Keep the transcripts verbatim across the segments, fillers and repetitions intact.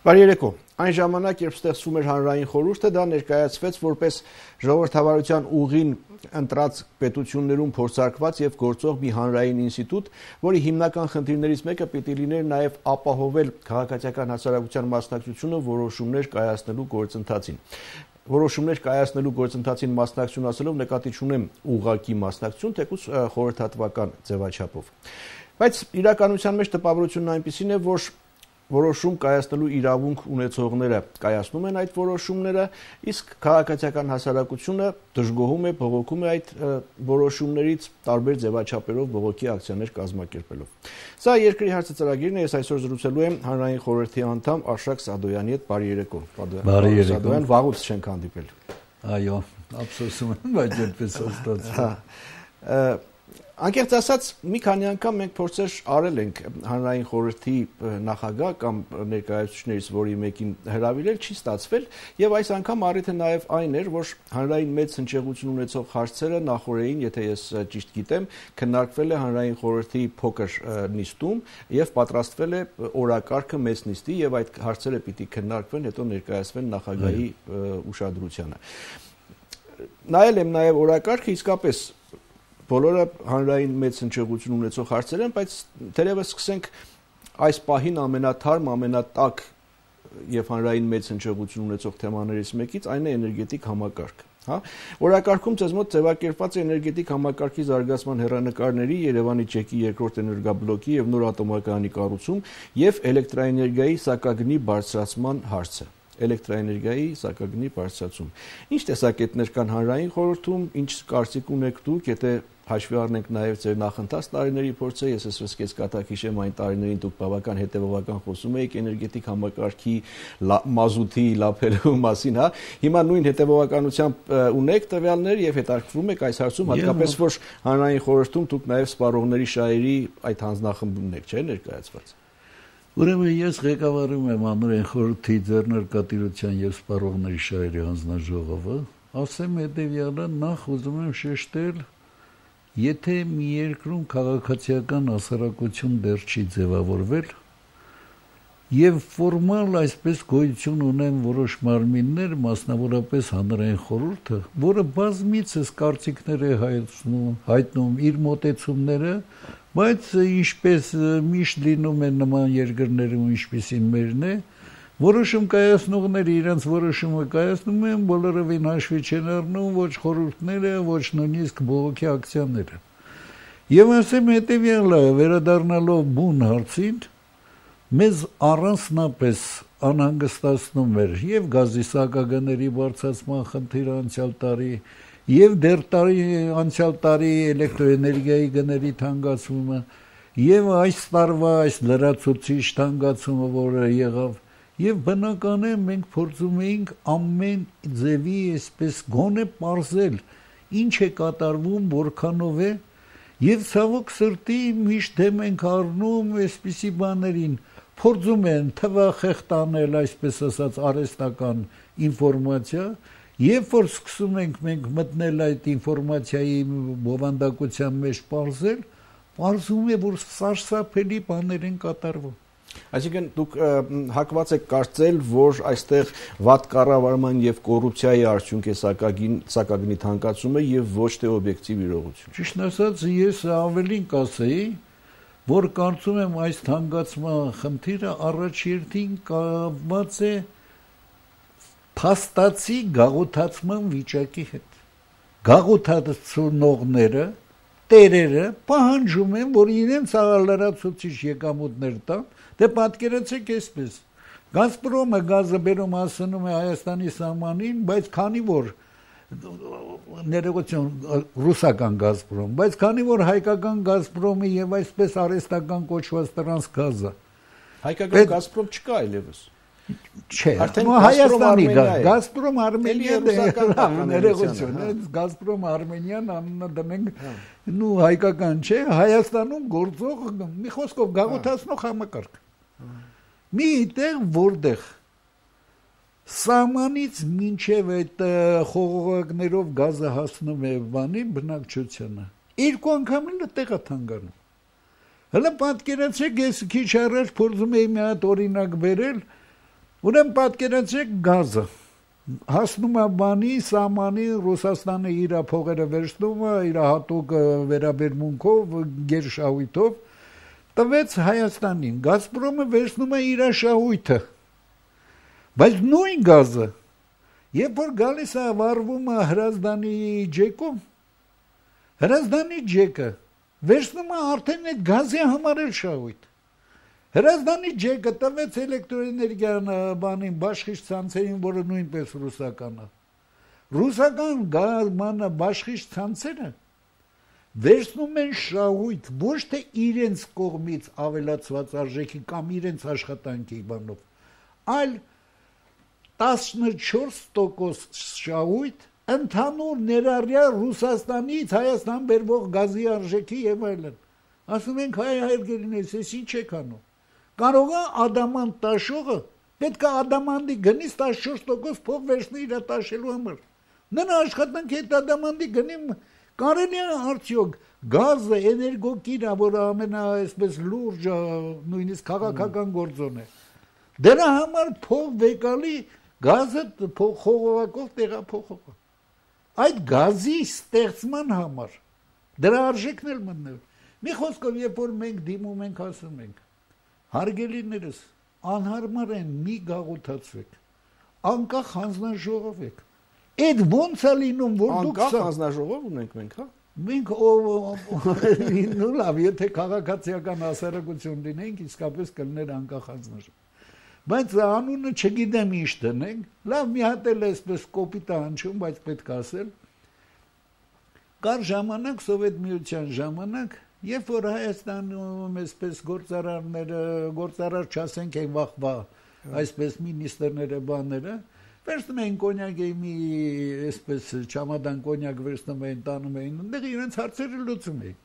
Բարի երեկո։ Այն ժամանակ, երբ ստեղծվում էր հանրային խորհուրդը, դա ներկայացվեց որպես ժողովրդավարության ուղին ընտրած պետություններում փորձարկված եւ գործող մի հանրային ինստիտուտ, որի հիմնական խնդիրներից մեկը պիտի լիներ նաեւ ապահովել քաղաքացիական հասարակության մասնակցությունը որոշումներ կայացնելու գործընթացին։ Որոշումներ կայացնելու գործընթացին մասնակցություն ասելով նկատի չունեմ ուղղակի մասնակցություն, թեկուզ խորհրդատվական ձևաչափով։ Բայց իրականության մեջ տպավորությունն այնպիսին է, որ որոշում կայացնելու իրավունք ունեցողները կայացնում են այդ որոշումները, իսկ քաղաքացիական հասարակությունը դժգոհում է, բողոքում է այդ որոշումներից տարբեր ձևաչափերով բողոքի ակցիաներ կազմակերպելով։ Սա երկրի հարցը ծրագիրն է, ես այսօր զրուցելու եմ հանրային խորհրդի անդամ Արշակ Սադոյանի հետ։ Բարի երեկո։ Բարի երեկո։ Սադոյան, վաղուց չենք հանդիպել։ Այո, ափսոսում եմ, բայց այդպես ստացվում։ Անկեղծ ասած, մի քանի անգամ մենք փորձեր արել ենք հանրային խորհրդի նախագահ կամ ներկայացուցիչներից որի մեկին հրավիրել, չի ստացվել, եւ այս անգամ առիթը նաեւ այն էր, որ հանրային մեծ հնչեղություն ունեցող հարցերը նախորդին, եթե ես ճիշտ գիտեմ, քննարկվել է հանրային խորհրդի փոքր նիստում եւ պատրաստվել է օրակարգը մեծ նիստի եւ այդ հարցերը պիտի քննարկվեն, հետո ներկայացվեն նախագահի ուշադրությանը։ Նայել եմ նաեւ օրակարգը, իսկապես բոլորը հանրային մեծ հնչեղություն ունեցող հարցեր են, բայց թերևս սկսենք այս պահին ամենաթարմ, ամենատակ եւ հանրային մեծ հնչեղություն ունեցող թեմաներից մեկից, այն է էներգետիկ համակարգը, հա։ Օրակարգում ցեզ մոտ ձևակերպված է էներգետիկ համակարգի զարգացման հեռանկարների, Երևանի ջեկի երկրորդ էներգաբլոկի եւ նոր ատոմակայանի կառուցում եւ էլեկտրաէներգիայի սակագնի բարձրացման հարցը։ Էլեկտրաէներգիայի սակագնի բարձրացում։ Ինչ տեսակետներ կան հանրային խորհրդում, ինչ կարծիք ունեք դուք, եթե հաշվի առնենք նաև ձեր նախընթաց տարիների փորձը, ես էսպես կես կատակ հիշեմ այն տարիներին դուք բավական հետևողական խոսում եք էներգետիկ համակարգի մազութի լափելու մասին, հա։ Հիմա նույն հետևողականությամբ ունեք տվյալներ եւ հետաքրքրվում եք այս հարցում, հատկապես որ հանրային խորհրդում դուք նաև սպառողների շահերի այդ հանձնախմբումն եք, չէ՞, ներկայացված։ Ուրեմն ես ղեկավարում եմ հանրային խորհրդի ձեռնարկատիրության եւ սպառողների շահերի հանձնաժողովը, ասեմ հետեւյալը, նախ ուզում եմ շեշտել, եթե մի երկրում քաղաքացիական հասարակություն դեռ չի ձևավորվել եւ ֆորմալ այսպես գոյություն ունեն որոշ մարմիններ, մասնավորապես հանրային խորհուրդը, որը բազմիցս կարծիքներ է հայտնում, հայտնում իր մոտեցումները, բայց ինչպես միշտ լինում է նման երկրներում, ինչպիսին մերն է, որոշում կայացնողները իրենց որոշումը կայացնում են, բոլորովին հաշվի չեն առնում ոչ խորհուրդները, ոչ նույնիսկ բողոքի ակցիաները։ Եվ ասեմ հետևյալը, վերադառնալով բուն հարցին, մեզ առանձնապես անհանգստացնում էր եւ գազի սակագների բարձրացման խնդիրը անցյալ տարի, եւ դեռ տարի անցյալ տարի էլեկտրոէներգիայի գների թանկացումը, եւ այս տարվա այս լրացուցիչ թանկացումը, որը եղավ, եւ բնական է մենք փորձում էինք ամեն ձևի այսպես գոնե պարզել, ինչ է կատարվում, որքանով է, եւ ցավոք սրտի միշտ դեմ ենք առնում այսպիսի բաներին, փորձում են թվախեղտանել, այսպես ասած, արհեստական ինֆորմացիա, երբ որ սկսում ենք մենք մտնել այդ ինֆորմացիայի բովանդակության մեջ պարզել, պարզում է, որ սարսափելի բաներ են կատարվում։ Այսինքն դուք հակված եք կարծել, որ այստեղ վատ կառավարման եւ կոռուպցիայի արդյունք է սակագնի թանկացումը եւ ոչ թե օբյեկտիվ իրողություն։ Ճիշտ ասած, ես ավելին կասեի, որ կարծում եմ այս թանկացման խնդիրը առաջերտին կապված է փաստացի գաղութացման վիճակի հետ։ Գաղութացնողները, տերերը պահանջում են, որ իրենց լրացուցիչ եկամուտներ տան, դե պատկերացեք այսպես, Գազպրոմը գազը բերում հասնում է Հայաստանի սահմանին, բայց քանի որ ներողություն ռուսական Գազպրոմ, բայց քանի որ հայկական Գազպրոմը եւ այսպես արհեստական կոչված տրանս գազը, հայկական Գազպրոմ չկա այլևս։ Չէ, Հայաստանի Գազպրոմ Արմենիան ներողություն, Գազպրոմ Արմենիան անունը դնենք, նու հայկական չէ, Հայաստանում գործող մի խոսքով գաղութացնող համակարգ։ Մի տեղ որտեղ սահմանից մինչև այդ խողովակներով գազը հասնում է բանի բնակչությանը, երկու անգամ էլ տեղա թանգանում։ Հələ պատկերացեք, ես քիչ առաջ փորձում էի մի հատ օրինակ բերել, Ուրեմն պատկերացրեք գազը հասնում է բանի, սահմանի, Ռուսաստանը իր փողերը վերցնում է, իր հատուկ վերաբերմունքով, գերշահույթով տվեց Հայաստանին, Գազպրոմը վերցնում է իր շահույթը, բայց նույն գազը, երբ որ գալիս է վառվում է Հրազդանի ջեկում, Հրազդանի ջեկը վերցնում է արդեն այդ գազի համար էլ շահույթ, Հրազդանի ջեկը տվեց էլեկտրոէներգիան բանին, բաշխիչ ցանցերին, որը նույնպես ռուսական է։ Ռուսական գազը բաշխիչ ցանցերը վերցնում են շահույթ ոչ թե իրենց կողմից ավելացված արժեքի կամ իրենց աշխատանքի բանով, այլ տասնչորս տոկոս շահույթ ընդհանուր ներառյալ Ռուսաստանից Հայաստան բերվող գազի արժեքի եւ այլն։ Ասում ենք հայ հարգելիներս, ես ինչ եք անում։ Կարող է ադամանտ տաշողը պետք է ադամանդի գնից տասնչորս տոկոս փող վերցնի իր տաշելու համար։ Նրա աշխատանքի այդ ադամանդի գնի կարելի է արդյոք գազը էներգոկիրը, որը ամենա այսպես լուրջ նույնիսկ քաղաքական գործոն է։ Դրա համար փող վեկալի գազը խողովակով տեղափոխող։ Այդ գազի ստեղծման համար դրա արժեքն էլ մտնել։ Մի խոսքով, երբ որ մենք դիմում ենք, ասում ենք, հարգելիներս, անհարմար են, մի գաղութացվեք, անկախ հանձնաժողով եք։ Այդ ոնց է լինում, որ դուք անկախ հանձնաժողով ունենք մենք, հա։ Մենք նու լավ, եթե քաղաքացիական հասարակություն լինենք, իսկապես կլներ անկախ հանձնաժողով։ Բայց անունը չգիտեմ ինչ դնենք, լավ մի հատ էլ էսպես կոպիտ է հնչում, բայց պետք է ասել։ Կար ժամանակ, Սովետ միության ժամանակ, երբ որ Հայաստանում այսպես գործարարները, գործարար չասենք են վախվա, այսպես մինիստրները, բաները, վերցնում էին կոնյակ մի այսպես չամադան կոնյակ վերցնում էին, տանում էին, այնտեղ իրենց հարցերը լուծում էին։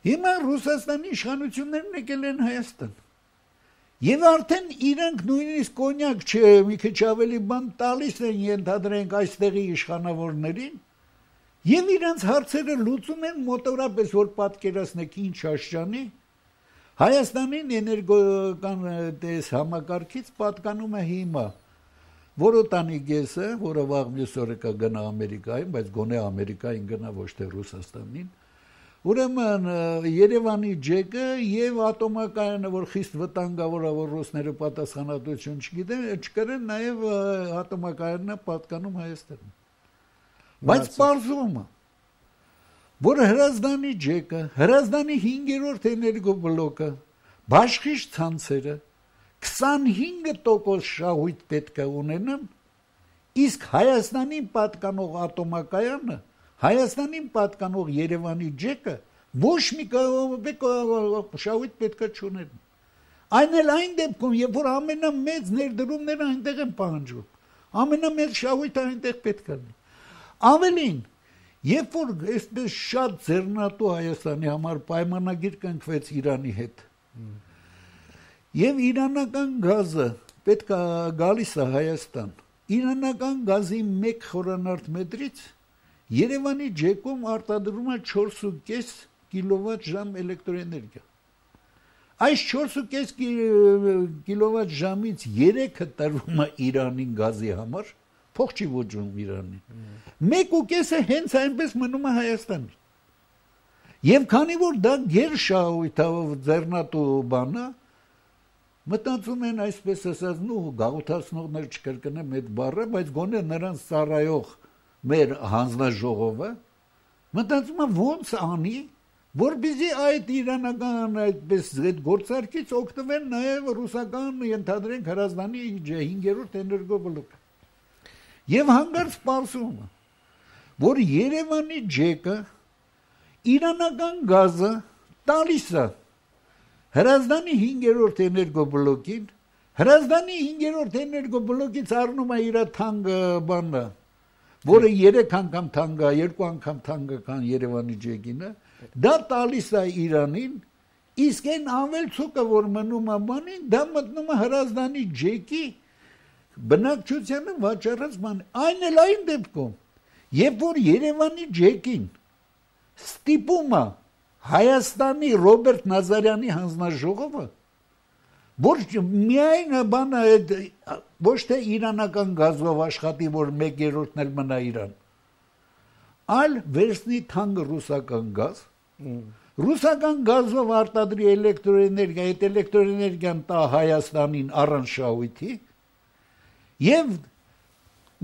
Հիմա Ռուսաստանի իշխանություններն եկել են Հայաստան։ Եվ արդեն իրանք նույնիսկ կոնյակ չէ, մի քիչ ավելի բան տալիս են ենթադրենք այստեղի իշխանավորներին, եւ իրանք հարցերը լուծում են մոտորապես, որ պատկերացնեք ինչ աշճանի, Հայաստանին էներգոական տես համակարգից պատկանում է հիմա Որոտանի գեսը, որը վաղ մյուս օրը կգնա Ամերիկային, բայց գոնե Ամերիկային գնա ոչ թե Ռուսաստանին, ուրեմն Երևանի ջեկը եւ ատոմակայանը, որ խիստ վտանգավոր է, որ ռուսները պատասխանատվություն չգիտեն, չկրեն նաեւ ատոմակայանն է պատկանում Հայաստանին։ Բայց պարզվում է, որ Հրազդանի ջեկը, Հրազդանի հինգերորդ էներգոբլոկը, բաշխիչ ցանցերը քսանհինգ տոկոս շահույթ պետք է ունենան, իսկ Հայաստանին պատկանող ատոմակայանը, Հայաստանին պատկանող Երևանի ջեկը ոչ մի շահույթ պետք է չունեն։ Այն էլ այն դեպքում, երբ որ ամենամեծ ներդրումները այնտեղ են պահանջվում, ամենամեծ շահույթը այնտեղ պետք է լինի։ Ավելին, երբ որ այսպես շատ ձեռնատու Հայաստանի համար պայմանագիր կնքվեց Իրանի հետ, եւ իրանական գազը պետք է գալիս է Հայաստան, իրանական գազի մեկ խորանարդ մետրից Երևանի ջեկում արտադրում է չորս ու կես կիլովատ ժամ էլեկտրոէներգիա։ Այս չորս ու կես կիլովատ ժամից երեքը տրվում է Իրանին գազի համար, փող չի ոճում Իրանին։ մեկ ու կեսը հենց այնպես մնում է Հայաստանին։ Եվ քանի որ դա գերշահույթով ձեռնատու բան է, մտածում են այսպես ասած, նու գաղութացնողներ չկրկնեմ այդ բառը, բայց գոնե նրանց ծառայող մեր հանձնաժողովը մտածում է ոնց անի, որպեսզի այդ իրանական այդպես այդ գործարքից օգտվեն նաև ռուսական ենթադրենք Հրազդանի հինգերորդ էներգոբլոկը։ Եվ հանգարց պարզում է, որ Երևանի ջեկը իրանական գազը տալիս է Հրազդանի հինգերորդ էներգոբլոկին, Հրազդանի հինգերորդ էներգոբլոկից առնում է իր թանկ բանը, որը երեք անգամ թանկ է, երկու անգամ թանկ է քան Երևանի ջեկինը, դա տալիս է Իրանին, իսկ այն ամելցուկը, որ մնում է բանին, դա մտնում է Հրազդանի ջեկի բնակչությանը վաճառած բան։ Այն էլ այն դեպքում, երբ որ Երևանի ջեկին ստիպում է Հայաստանի Ռոբերտ Նազարյանի հանձնաժողովը, Ոչ միայն բանը այդ ոչ թե իրանական գազով աշխատի, որ մեկ երրորդն էլ մնա Իրան, այլ վերցնի թանկ ռուսական գազ, ռուսական գազով արտադրի էլեկտրոէներգիա, այդ էլեկտրոէներգիան տա Հայաստանին առանց շահույթի եւ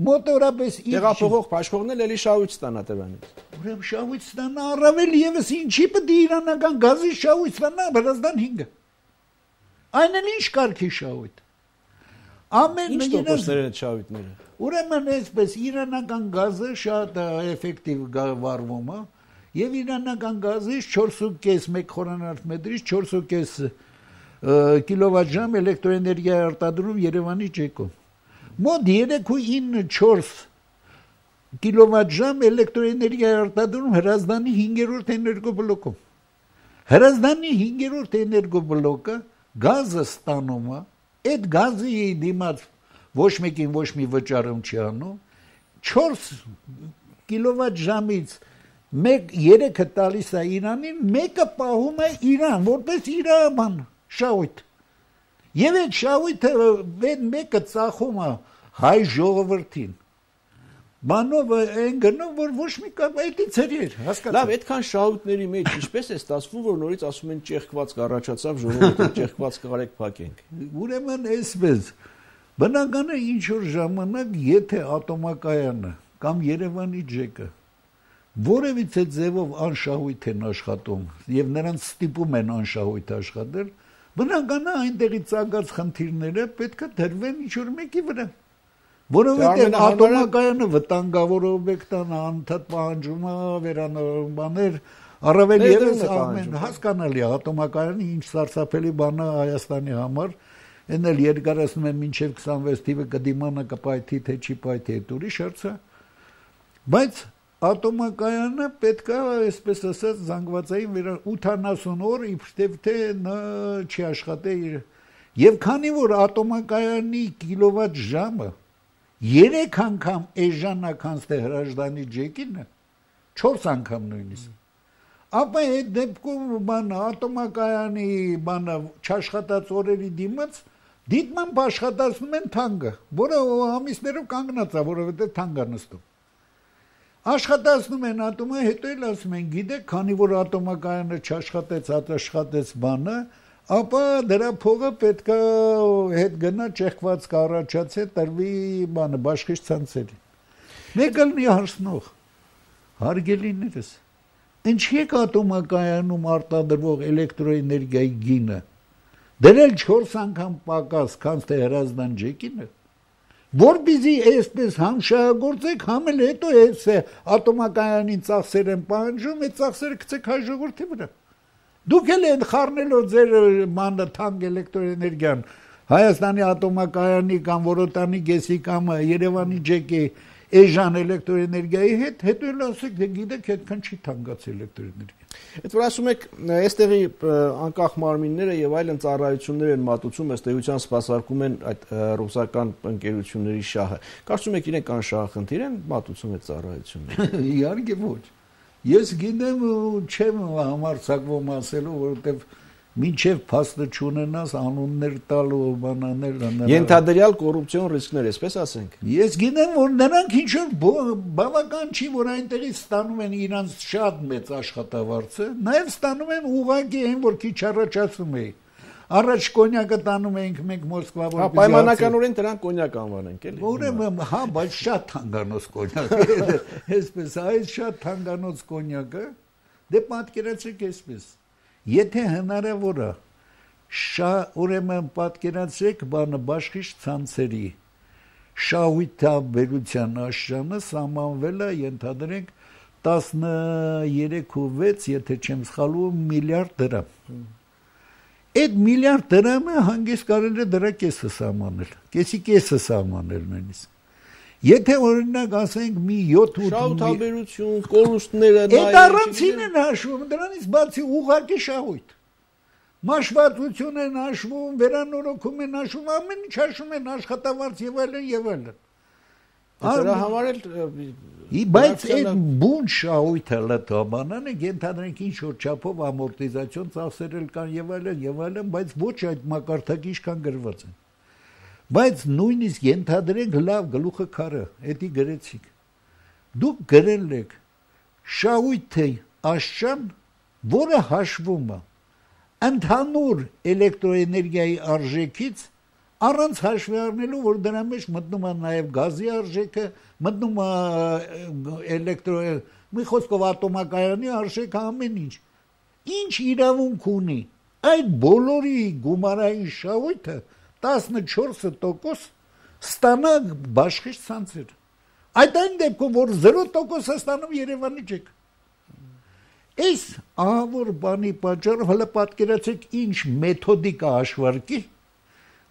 մոտորապես տեղափոխող բաշխողն էլ էլի շահույթ ստանա դրանից։ Ուրեմն շահույթ ստանա առավել եւս ինչի պետք է իրանական գազի շահույթ ստանա Վրաստան հինգը։ Այն էլ ինչ կարգի շահույթ։ Ամեն ինչ տոկոսներ են շահույթները։ Ուրեմն այսպես իրանական գազը շատ էֆեկտիվ վարվում է եւ իրանական գազից չորս ու կես մեկ խորանարդ մետրից չորս ու կես կիլովատժամ էլեկտրոէներգիա արտադրում Երևանի ջեկում։ Մոտ երեք ու ինը չորս կիլովատժամ էլեկտրոէներգիա արտադրում Հրազդանի հինգերորդ էներգոբլոկում։ Հրազդանի հինգերորդ էներգոբլոկը գազը ստանում է, այդ գազի դիմաց ոչ մեկին ոչ մի վճարում չի անում, չորս կիլովատժամից մեկ երեքը տալիս է Իրանին, մեկը պահում է Իրան, որպես իր բան, շահույթ։ Եվ այդ շահույթը այդ մեկը ծախում է հայ ժողովրդին։ Բանով այն գնում, որ ոչ մի կապ այդից էր, հասկացա։ Լավ, այդքան շահույթների մեջ ինչպես է ստացվում, որ նորից ասում են ճեղքվածք առաջացավ, ժողովուրդը ճեղքվածք կարեք փակենք։ Ուրեմն այսպես, բնականը ինչ որ ժամանակ, եթե ատոմակայանը կամ Երևանի ջեկը որևիցե ձևով անշահույթ են աշխատում եւ նրանց ստիպում են անշահույթ աշխատել, բնականը այնտեղի ցանկած խնդիրները պետք է դրվեն ինչ որ մեկի վրա։ Որովհետև ատոմակայանը վտանգավոր օբյեկտան անընդհատ պահանջում է վերանորոգումներ, առավել ևս ամեն հասկանալի է ատոմակայանը ինչ սարսափելի բան է Հայաստանի համար, այն էլ երկարացնում են մինչև քսանվեց թիվը կդիմանա կպայթի թե չի պայթի այդ ուրիշ հարց է, բայց ատոմակայանը պետք է այսպես ասած զանգվածային վրա ութանասուն օր իբրև թե նա չի աշխատե իր եւ քանի որ ատոմակայանի կիլովատ ժամը երեք անգամ էժանական ստե Հրազդանի ջեկինը, չորս անգամ նույնիսկ։ Ապա այդ դեպքում բանը ատոմակայանի բանը չաշխատած օրերի դիմաց դիտմամբ աշխատացնում են թանկը, որը ամիսներով կանգնած է, որովհետև թանկ է նստում։ Աշխատացնում են ատոմը, հետո էլ ասում են, գիտեք, քանի որ ատոմակայանը չաշխատեց, աշխատեց բանը, ապա դրա փողը պետք է հետ գնա ճեղքված կառաջացե տրվի բանը բաշխիչ ցանցերին։ Մեկ ելնի հարցնող, հարգելիներս, ինչի եք ատոմակայանում արտադրվող էլեկտրոէներգիայի գինը դրել չորս անգամ պակաս, քան թե Հրազդան ջեկինը, որպեսզի այսպես համ շահագործեք, համ էլ հետո այս ատոմակայանին ծախսեր են պահանջում, այդ ծախսերը գցեք հայ ժողովրդի վրա։ Դուք էլ են խառնելով ձեր մանը թանկ էլեկտրոէներգիան Հայաստանի ատոմակայանի կամ Որոտանի գեսի կամ Երևանի ջեկի էժան էլեկտրոէներգիայի հետ, հետո էլ ասեք, դե գիտեք, այդքան չի թանկացել էլեկտրոէներգիան։ Այդ որ ասում եք, այստեղի անկախ մարմինները եւ այլն ծառայություններ են մատուցում, ըստ էության սպասարկում են այդ ռուսական ընկերությունների շահը։ Կարծում եք իրենք անշահախնդիր են մատուցում այդ ծառայությունները։ Իհարկե ոչ։ Ես գիտեմ ու չեմ համարձակվում ասելու, որովհետև մինչև փաստը չունենաս անուններ տալու բանաներ ենթադրյալ կոռուպցիոն ռիսկներ, այսպես ասենք։ Ես գիտեմ, որ նրանք ինչ որ բավական չի, որ այնտեղից ստանում են իրանց շատ մեծ աշխատավարձը, նաև ստանում են ուղղակի այն, որ քիչ առաջ ասում էի։ Առաջ կոնյակը տանում էինք մենք Մոսկվա, որպես պայմանականորեն դրան կոնյակ անվանենք, էլի։ Ուրեմն, հա, բայց շատ թանկանոց կոնյակ է։ Այսպես, այս շատ թանկանոց կոնյակը, դե պատկերացրեք այսպես։ Եթե հնարավոր է, ուրեմն պատկերացրեք բանը բաշխիչ ցանցերի շահույթաբերության աշխանը սահմանվել է, ենթադրենք տասներեք ու վեց, եթե չեմ սխալվում, միլիարդ դրամ։ Այդ միլիարդ դրամը հանգիստ կարելի է դրա կեսը սահմանել, կեսի կեսը սահմանել նույնիսկ։ Եթե օրինակ ասենք մի յոթ ութ շահութաբերություն, կորուստները այդ առանցին են հաշվում, դրանից բացի ուղղակի շահույթ։ Մաշվածություն են հաշվում, վերանորոգում են հաշվում, ամեն ինչ հաշվում են աշխատավարձ եւ այլն եւ այլն։ Դրա համար էլ բայց այդ բուն շահույթը լտոմանանը ենթադրենք ինչ որ չափով ամորտիզացիոն ծախսեր կան եւ այլն եւ այլն, բայց ոչ այդ մակարդակի ինչքան գրված են։ Բայց նույնիսկ ենթադրենք լավ գլուխը քարը, էդի գրեցիք։ Դուք գրել եք շահույթի աշճան, որը հաշվում է ընդհանուր էլեկտրոէներգիայի արժեքից առանց հաշվի առնելու, որ դրա մեջ մտնում է նաև գազի արժեքը, մտնում է էլեկտրո, մի խոսքով ատոմակայանի արժեքը, ամեն ինչ։ Ինչ իրավունք ունի այդ բոլորի գումարային շահույթը տասնչորս տոկոս ստանա բաշխիչ ցանցեր։ Այդ այն դեպքում, որ զրո տոկոս է ստանում Երևանի չեք։ Այս ահավոր բանի պատճառով հələ պատկերացեք ինչ մեթոդիկա հաշվարկի,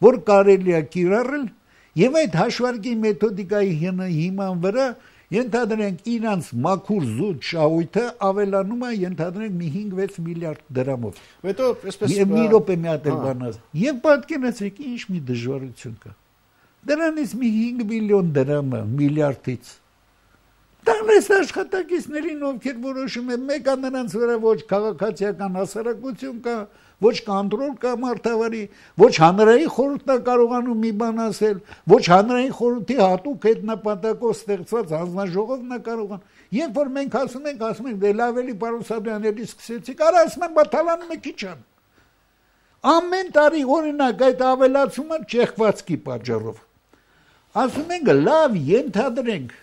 որ կարելի է կիրառել եւ այդ հաշվարկի մեթոդիկայի հիման վրա ենթադրենք իրանց մաքուր զուտ շահույթը ավելանում է ենթադրենք մի հինգ-վեց միլիարդ դրամով։ Հետո այսպես եւ մի րոպե մի հատ էլ բանաց։ Եվ պատկերացեք ինչ մի դժվարություն կա։ Դրանից մի հինգ միլիոն դրամը միլիարդից տանես աշխատակիցներին, ովքեր որոշում են, մեկը նրանց վրա ոչ քաղաքացիական հասարակություն կա, ոչ կոնտրոլ կա մարդավարի, ոչ հանրային խորհուրդն է կարողանում մի բան ասել, ոչ հանրային խորհրդի հատուկ այդ նպատակով ստեղծված հանձնաժողովն է կարողանում։ Երբ որ մենք ասում ենք, ասում ենք, դե լավ էլի պարոն Սաբյանելի սկսեցիք, արա ասում են, բաթալանում է քիչ ան։ Ամեն տարի օրինակ այդ ավելացումը ճեղքվածքի պատճառով։ Ասում ենք, լավ ենթադրենք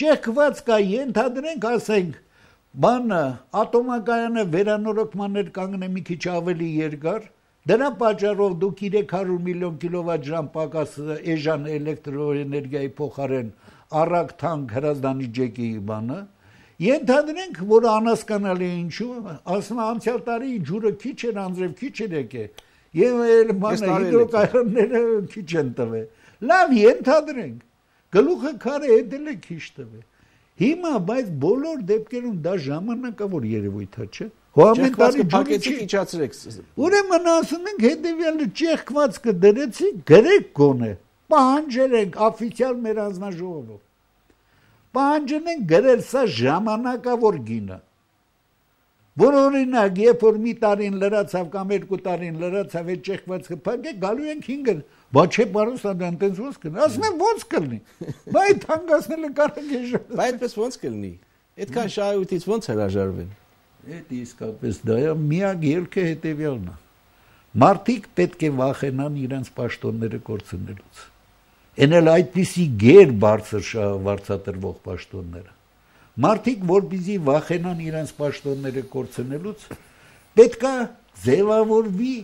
Ճեղքված կա ենթադրենք, ասենք, բանը ատոմակայանը վերանորոգման կանգնե մի քիչ ավելի երկար, դրա պատճառով դուք երեք հարյուր միլիոն կիլովատ-ժամ պակաս էժան էլեկտրոէներգիայի փոխարեն առակ թանկ հրազդանի ջեկի բանը, ենթադրենք, որ անհասկանալի է ինչու, ասում անցյալ տարի ջուրը քիչ էր, անձրև քիչ էր եկել, եւ բանը հիդրոկայանները քիչ են տվել։ Լավ ենթադրենք Գլուխը քարը էդել է քիչ տվել։ Հիմա բայց բոլոր դեպքերում դա ժամանակավոր երևույթ է, չէ՞։ Հո ամեն տարի փակեցիք իջացրեք։ Ուրեմն ասում ենք հետեւյալը ճեղքվածքը դրեցի, գրեք գոնե։ Պահանջել ենք օֆիցիալ մեր հանձնաժողովով։ Պահանջել ենք գրել սա ժամանակավոր գինը։ Որ օրինակ, երբ որ մի տարին լրացավ կամ երկու տարին լրացավ այդ ճեղքվածքը փակեք, գալու ենք հինգը։ Բա չէ, պարոն Սաբյան, տենց ոնց կլինի։ Ասում եմ ոնց կլինի։ Բա այդ հանգացնելը կարող է ժողովուրդ։ Բա այդպես ոնց կլինի։ Այդքան շահույթից ոնց հրաժարվեն։ Այդ իսկապես դա է, միակ ելքը հետևյալն է։ Մարդիկ պետք է վախենան իրենց պաշտոնները կորցնելուց։ Էն էլ այդպիսի գեր բարձր վարձատրվող պաշտոնները։ Մարդիկ, որպեսզի վախենան իրենց պաշտոնները կորցնելուց, պետք է ձևավորվի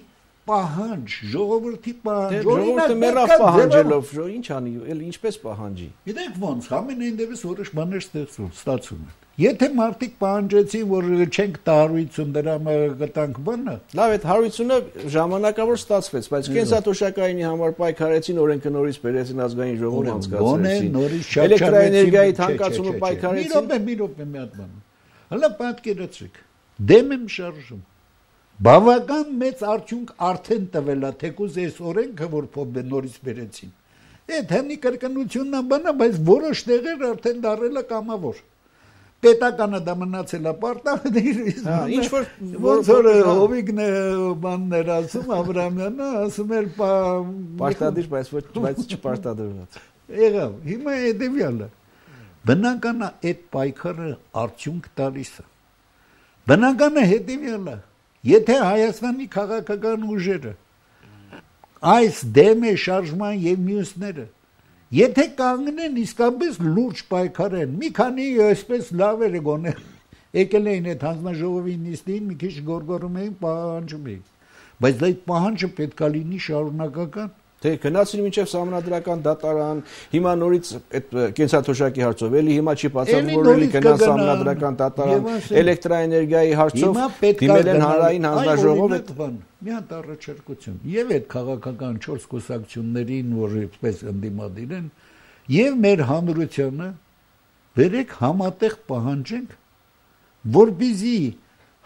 պահանջ, ժողովրդի պահանջ, ժողովուրդը մեռավ պահանջելով, ինչ անի, էլ ինչպես պահանջի։ Գիտեք ոնց, ամենայն դեպս որոշ բաներ ստացվում են։ Եթե մարդիկ պահանջեցին, որ չենք տա հարյուրություն դրամը գտանք բանը, լավ, այդ հարյուրությունը ժամանակավոր ստացվեց, բայց կենսաթոշակայինի համար պայքարեցին, օրենքը նորից բերեցին ազգային ժողովը անցկացրեցին։ Էլեկտրոէներգիայի թանկացումը պայքարեցին։ Մի րոպե, մի հատ բան։ Հələ պատկերացրեք, դեմ եմ շարժում։ Բավական մեծ արդյունք արդեն տվել է, թեկուզ այս օրենքը, որ փոփ նորից բերեցին։ Այդ հնի կրկնությունն է բանը, բայց որոշ տեղեր արդեն դարել է կամավոր։ Պետականը դա մնացել է պարտադիր, ինչ որ ոնց որ Հովիկն է բաններ ասում, Աբրամյանը ասում էր պարտադիր, բայց ոչ բայց չպարտադրված։ Եղավ, հիմա հետևյալը։ Բնական է այդ պայքարը արդյունք տալիս է։ Բնականը հետևյալը, եթե Հայաստանի քաղաքական ուժերը այս դեմ է շարժման եւ մյուսները, եթե կանգնեն իսկապես լուրջ պայքարեն, մի քանի այսպես լավ էր գոնե եկել էին այդ հանձնաժողովի նիստին, մի քիչ գորգորում էին, պահանջում էին, բայց դա այդ պահանջը պետք է լինի շարունակական։ Թե գնացին մինչև սահմանադրական դատարան, հիմա նորից այդ կենսաթոշակի հարցով, էլի հիմա չի բացառվում, որ էլի գնան սահմանադրական դատարան, էլեկտրաէներգիայի հարցով դիմել են հանրային հանձնաժողով այդ բան։ Մի հատ առաջարկություն։ Եվ այդ քաղաքական չորս կուսակցություններին, որ այսպես ընդդիմադիր են, եւ մեր հանրությանը վերեք համատեղ պահանջենք, որպեսզի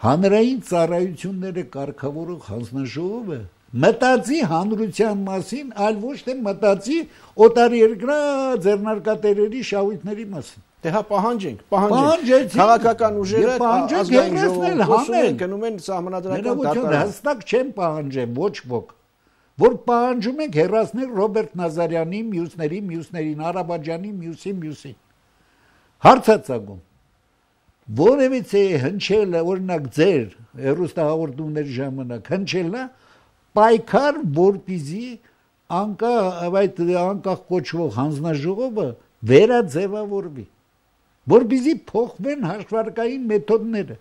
հանրային ծառայությունները կարգավորող հանձնաժողովը մտածի հանրության մասին, այլ ոչ թե մտածի օտարերկրյա ձեռնարկատերերի շահույթների մասին։ Դե հա պահանջենք, պահանջենք։ Քաղաքական ուժերը ազգային ժողովում խոսում են, գնում են սահմանադրական դատարան։ Հստակ չեն պահանջեն ոչ ոք, որ պահանջում ենք հեռացնել Ռոբերտ Նազարյանի, մյուսների, մյուսներին, Արաբաջանի, մյուսի, մյուսին։ Հարցածագում որևիցե հնչելը, օրինակ ձեր հեռուստահաղորդումների ժամանակ հնչելը պայքար, որպեսզի անկախ այդ անկախ կոչվող հանձնաժողովը վերաձևավորվի, որպեսզի փոխվեն հաշվարկային մեթոդները։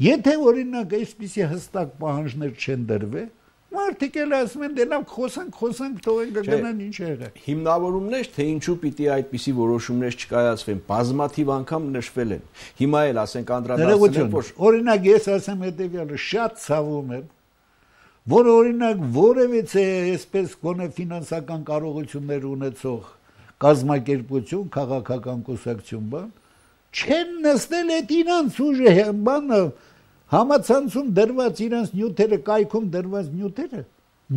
Եթե օրինակ այսպիսի հստակ պահանջներ չեն դրվել, մարդիկ էլ ասում են դե լավ խոսանք, խոսանք, թողենք գնան ինչ եղավ։ Հիմնավորումներ, թե ինչու պիտի այդպիսի որոշումներ չկայացվեն, բազմաթիվ անգամ նշվել են։ Հիմա էլ ասենք անդրադարձնենք, որ օրինակ ես ասեմ հետեւյալը, շատ ցավում եմ, որ օրինակ որևիցե այսպես գոնե ֆինանսական կարողություններ ունեցող կազմակերպություն, քաղաքական կուսակցություն բան, չեն նստել այդ իրանց ուժը բանը համացանցում դրված իրանց նյութերը, կայքում դրված նյութերը,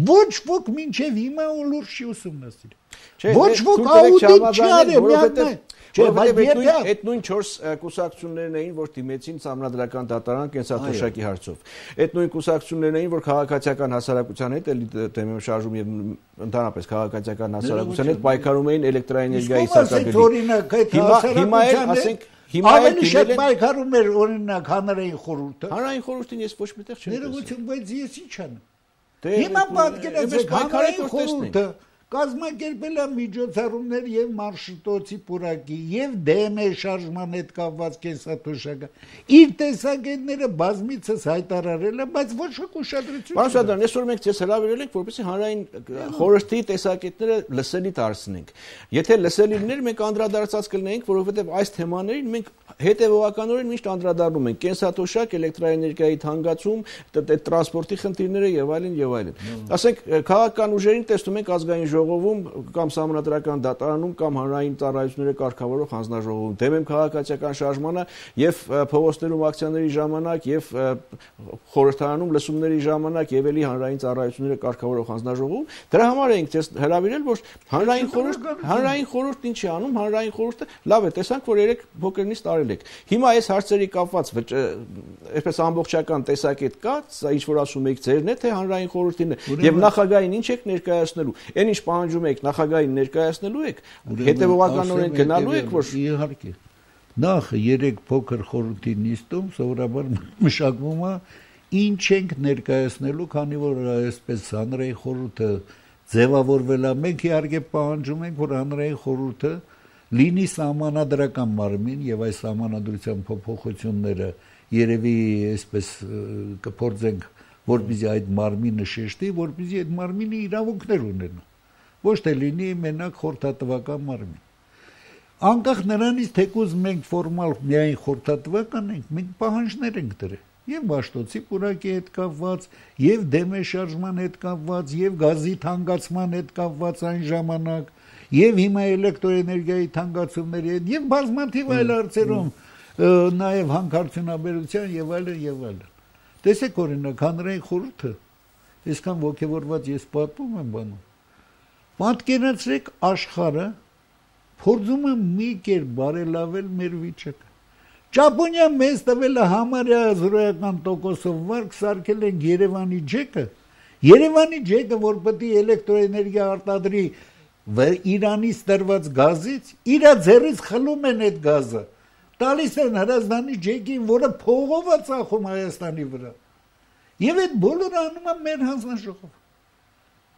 ոչ ոք մինչև հիմա լուրջ չի ուսումնասիրել։ Ոչ ոք աուդիտ չի արել, միայն Չէ, բայց այդ նույն չորս կուսակցություններն էին, որ դիմեցին սահմանադրական դատարան կենսաթոշակի հարցով։ Այդ նույն կուսակցություններն էին, որ քաղաքացիական հասարակության հետ էլի դեմեմ շարժում եւ ընդհանրապես քաղաքացիական հասարակության հետ պայքարում էին էլեկտրաէներգիայի սարքագծի։ Հիմա հիմա էլ ասենք հիմա էլ դիմել պայքարում էր օրինակ հանրային խորհուրդը։ Հանրային խորհրդին ես ոչ միտեղ չեմ տեսել։ Ներողություն, բայց ես ինչ անեմ։ Հիմա պատկերացրեք հանրային խորհուրդը կազմակերպել է միջոցառումներ եւ մարշրուտոցի պուրակի եւ դեմե շարժման հետ կապված կենսաթոշակը իր տեսակետները բազմիցս հայտարարել է, բայց ոչ ոք ուշադրություն Պարոն Սադան, այսօր մենք ձեզ հրավիրել ենք, որպեսզի հանրային խորհրդի տեսակետները լսելի դարձնենք։ Եթե լսելի լիներ, մենք անդրադարձած կլինեինք, որովհետեւ այս թեմաներին մենք հետևողականորեն միշտ անդրադառնում ենք կենսաթոշակ, էլեկտրաէներգիայի թանկացում, տրանսպորտի խնդիրները եւ այլն եւ այլն։ Ասենք քաղաքական ուժերին տեսնում ենք ազգային ժողովում կամ սահմանադրական դատարանում կամ հանրային ծառայությունները կարգավորող հանձնաժողովում դեմ եմ քաղաքացիական շարժմանը եւ փողոցներում ակցիաների ժամանակ եւ խորհրդարանում լսումների ժամանակ եւ էլի հանրային ծառայությունները կարգավորող հանձնաժողովում դրա համար ենք ձեզ հրավիրել, որ հանրային խորհուրդ հանրային խորհուրդ ինչի անում, հանրային խորհուրդը լավ է, տեսանք, որ երեք փոքր նիստ արել եք։ Հիմա այս հարցերի կապված այսպես ամբողջական տեսակետ կա, սա ինչ որ ասում եք ձերն է, թե հանրային խորհրդին է եւ նախագահային ինչ եք ներկայացնելու։ Այն ինչ պահանջում եք նախագահային ներկայացնելու եք, հետևողականորեն գնալու եք, որ իհարկե նախ երեք փոքր խորհրդի նիստում սովորաբար մշակվում է ինչ ենք ներկայացնելու, քանի որ այսպես հանրային խորհուրդը ձևավորվել է, մենք իհարկե պահանջում ենք, որ հանրային խորհուրդը լինի սահմանադրական մարմին եւ այս սահմանադրության փոփոխությունները երևի այսպես կփորձենք, որպեսզի այդ մարմինը շեշտի, որպեսզի այդ մարմինը իրավունքներ ունենա, ոչ թե լինի մենակ խորհրդատվական մարմին։ Անկախ նրանից, թեկուզ մենք ֆորմալ միայն խորհրդատվական ենք, մենք պահանջներ ենք դրել եւ Մաշտոցի պուրակի հետ կապված, եւ դեմե շարժման հետ կապված, եւ գազի թանկացման հետ կապված այն ժամանակ, եւ հիմա էլեկտրոէներգիայի թանկացումների հետ, եւ բազմաթիվ այլ հարցերում, նաեւ հանքարդյունաբերության եւ այլն եւ այլն։ Տեսեք օրինակ հանրային խորհուրդը, այսքան ոգևորված ես պատմում եմ բանում։ Պատկերացրեք աշխարհը փորձում է մի կերպ բարելավել մեր վիճակը։ Ճապոնիան մեզ տվել է համարյա զրոյական տոկոսով վարկ, սարքել են Երևանի ջեկը, Երևանի ջեկը, որ պետք է էլեկտրոէներգիա արտադրի Իրանից տրված գազից, իր ձեռից խլում են այդ գազը, տալիս են Հրազդանի ջեկին, որը փողով է ծախում Հայաստանի վրա։ Եվ այդ բոլորը անում է մեր հանձնաժողովը։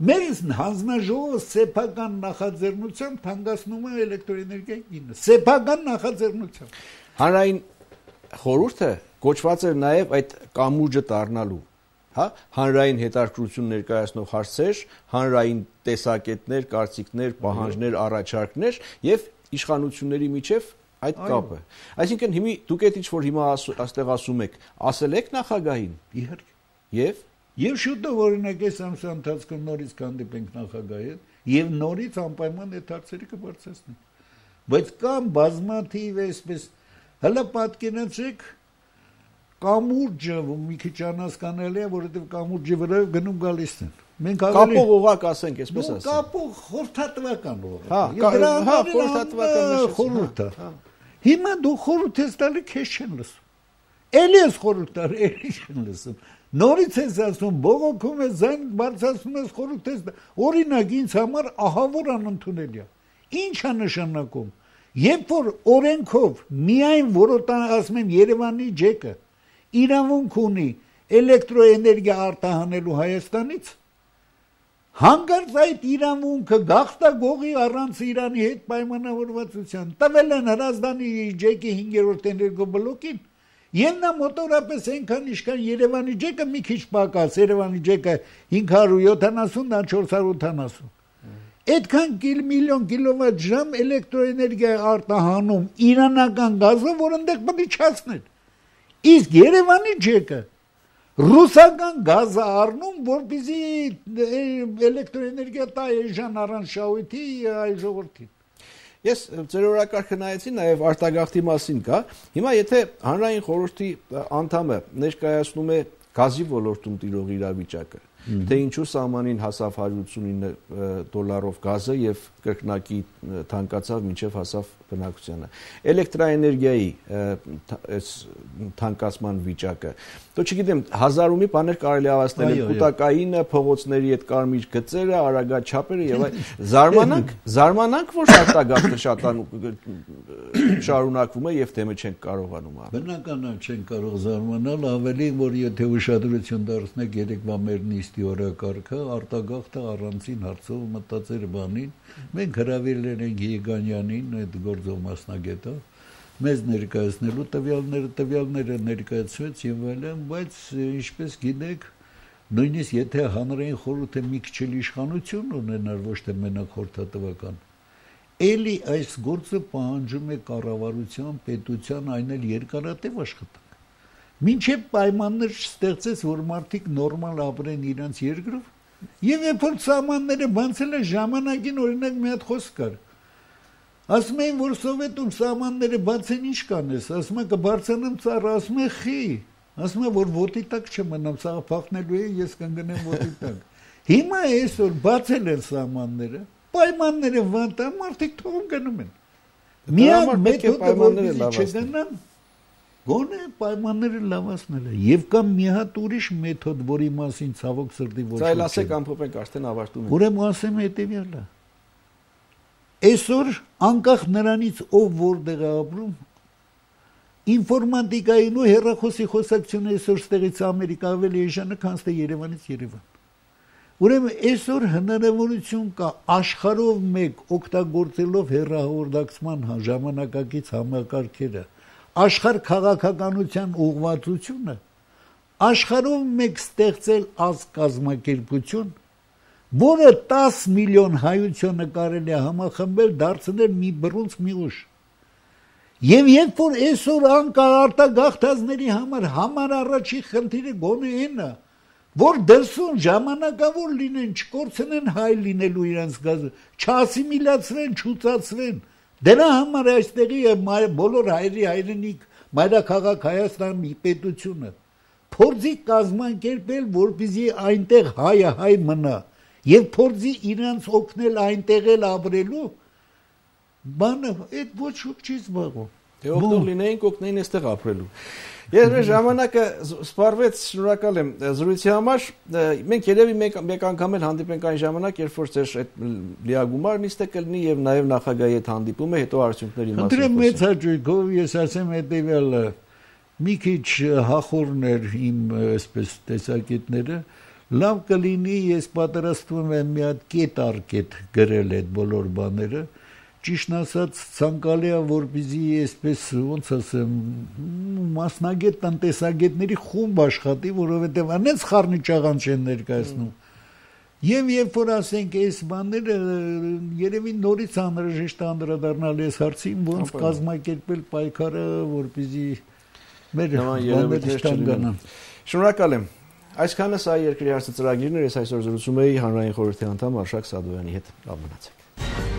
Մեր հանձնաժողովը սեփական նախաձեռնությամբ թանկացնում է էլեկտրոէներգիայի գինը, սեփական նախաձեռնությամբ։ Հանրային խորհուրդը կոչված էր նաև այդ կամուրջը դառնալու, հա, հանրային հետաքրքրություն ներկայացնող հարցեր, հանրային տեսակետներ, կարծիքներ, պահանջներ, առաջարկներ եւ իշխանությունների միջև այդ կապը։ Այսինքն հիմի դուք այդ ինչ որ հիմա այստեղ ասում եք, ասել եք նախագահին։ Իհարկե։ Եվ եւ շուտով օրինակ այս ամսվա ընթացքում նորից կհանդիպենք նախագահի հետ եւ նորից անպայման այդ հարցերը կբարձրացնենք։ Բայց կան բազմաթիվ այսպես հələ պատկերացրեք կամուրջը մի քիչ անհասկանալի է, որովհետև կամուրջի վրա գնում գալիս են։ Մենք կապող օղակ ասենք, այսպես ասենք։ Կապող խորհրդատվական օղակ։ Հա, հա, խորհրդատվական խորհուրդը։ Հիմա դու խորհուրդ ես տալի, քեզ չեն լսում։ Էլի ես խորհուրդ տալի, էլի չեն լսում։ Նորից ես ասում, բողոքում ես, ձայն բարձրացնում ես, խորհուրդ ես, օրինակ ինձ համար ահավոր անընդունելի է։ Ինչ է նշանակում։ Երբ որ օրենքով միայն որոտան ասում եմ Երևանի ջեկը իրավունք ունի էլեկտրոէներգիա արտահանելու Հայաստանից, հանկարծ այդ իրավունքը գաղթագողի առանց Իրանի հետ պայմանավորվածության տվել են Հրազդանի ջեկի հինգերորդ էներգոբլոկին, եւ նա մոտորապես այնքան իշքան Երևանի ջեկը մի քիչ պակաս, Երևանի ջեկը հինգ հարյուր յոթանասուն, դա չորս հարյուր ութանասուն։ Այդքան միլիոն կիլովատ ժամ էլեկտրոէներգիա արտահանում իրանական գազը, որ այնտեղ պետք է չացնել։ Իսկ Երևանի ջեկը ռուսական գազը առնում, որպեսզի էլեկտրոէներգիա տա այժմ առանց շահույթի այ ժողովրդին։ Ես ձեր օրակարգը նայեցի, նաև արտագաղթի մասին կա։ Հիմա եթե հանրային խորհրդի անդամը ներկայացնում է գազի ոլորտում տիրող իրավիճակը, թե ինչու սահմանին հասավ հարյուր ութսունինը դոլարով գազը եւ կրկնակի թանկացավ մինչեւ հասավ բնակությանը։ Էլեկտրաէներգիայի այս թանկացման վիճակը։ Դու չգիտեմ, հազարումի բաներ կարելի ավաստել, կൂട്ടակայինը, փողոցների այդ կարմիր գծերը, արագաչափերը եւ այլ։ Զարմանանք, զարմանանք, որ արտագաղթը շատանում շարունակվում է եւ թեմը չենք կարողանում անել։ Բնական է, չենք կարող զարմանալ, ավելի որ եթե ուշադրություն դարձնեք երեկվա մեր նիստի օրակարգը, արտագաղթը առանցին հարցով մտածեր բանին, մենք հրավիրել ենք Եգանյանին, այդ գործող մասնագետը, մեզ ներկայացնելու տվյալները, տվյալները ներկայացվեց եւ այլն, բայց ինչպես գիտեք, նույնիսկ եթե հանրային խորհուրդը մի քիչ իշխանություն ունենար, ոչ թե մենակ խորհրդատվական, էլի այս գործը պահանջում է կառավարության, պետության, այն էլ երկարատև աշխատանք։ Մինչև պայմաններ չստեղծես, որ մարդիկ նորմալ ապրեն իրենց երկրով, եւ երբ որ սահմանները բացել են ժամանակին, օրինակ մի հատ խոսք կար։ Ասում էին, որ սովետում սահմանները բացեն, ինչ կանես, ասում են կբարձրանամ ծառը, ասում են խի, ասում են, որ ոտի տակ չմնամ, սաղ փախնելու է, ես կընկնեմ ոտի տակ։ Հիմա այսօր բացել են սահմանները, պայմանները վատան, մարդիկ թողում գնում են։ Միակ մեթոդը, որպեսզի չգնան, գոնե պայմանները լավացնելը, եւ կամ մի հատ ուրիշ մեթոդ, որի մասին ցավոք սրտի ոչ ոք։ Սա էլ ասեք ամփոփենք, արդեն ավարտում ենք։ Ուրեմն ասեմ հետեւյալը։ Այսօր անկախ նրանից ով որտեղ է ապրում, ինֆորմատիկային ու հեռախոսի խոսակցությունը այսօր ստեղից Ամերիկա ավելի էժան է, քան թե Երևանից Երևան։ Ուրեմն այսօր հնարավորություն կա աշխարհով մեկ օգտագործելով հեռահաղորդակցման ժամանակակից համակարգերը, աշխարհ քաղաքականության ուղղվածությունը, աշխարհով մեկ ստեղծել ազգ կազմակերպություն, որը տաս միլիոն հայությունը կարելի է համախմբել, դարձնել մի բռունց մի ուժ։ Եվ երբ որ այսօր անկար արտագաղթածների համար համար առաջի խնդիրը գոնե այն է, որ դրսում ժամանակավոր լինեն, չկորցնեն հայ լինելու իրենց գազը, չասիմիլացվեն, չուծացվեն։ Դրա համար այստեղի բոլոր հայերի հայրենիք, մայրաքաղաք Հայաստանի պետությունը փորձի կազմակերպել, որպեսզի այնտեղ հայը հայ մնա, եւ փորձի իրենց օգնել այնտեղ էլ ապրելու, բանը այդ ոչ ոք չի զբաղվում։ Դե օգտող լինեին, օգնեին այստեղ ապրելու։ Ես մեր ժամանակը սպառվեց, շնորհակալ եմ զրույցի համար։ Մենք երևի մեկ անգամ էլ հանդիպենք այն ժամանակ, երբ որ ձեր այդ լիագումար նիստը կլինի եւ նաեւ նախագահի հետ հանդիպումը, հետո արդյունքների մասին։ Ընտրեմ մեծ հաճույքով, ես ասեմ հետեւյալը, մի քիչ հախորներ իմ այսպես տեսակետները, լավ կլինի, ես պատրաստվում եմ մի հատ կետ առ կետ գրել այդ բոլոր բաները, ճիշտ ասած ցանկալի է, որպեսզի այսպես ոնց ասեմ, մասնագետ տնտեսագետների խումբ աշխատի, որովհետև անենց խառնիճաղան չեն ներկայացնում։ Եվ երբ որ ասենք այս բաները երևի նորից անհրաժեշտ է անդրադառնալ այս հարցին, ոնց կազմակերպել պայքարը, որպեսզի մեր բաները չտանկանան։ Շնորհակալ եմ։ Այսքանը սա երկրի հարցը ծրագիրն էր, ես այսօր զրուցում էի հանրային խորհրդի անդամ Արշակ Սադոյանի հետ։ Լավ մնացեք։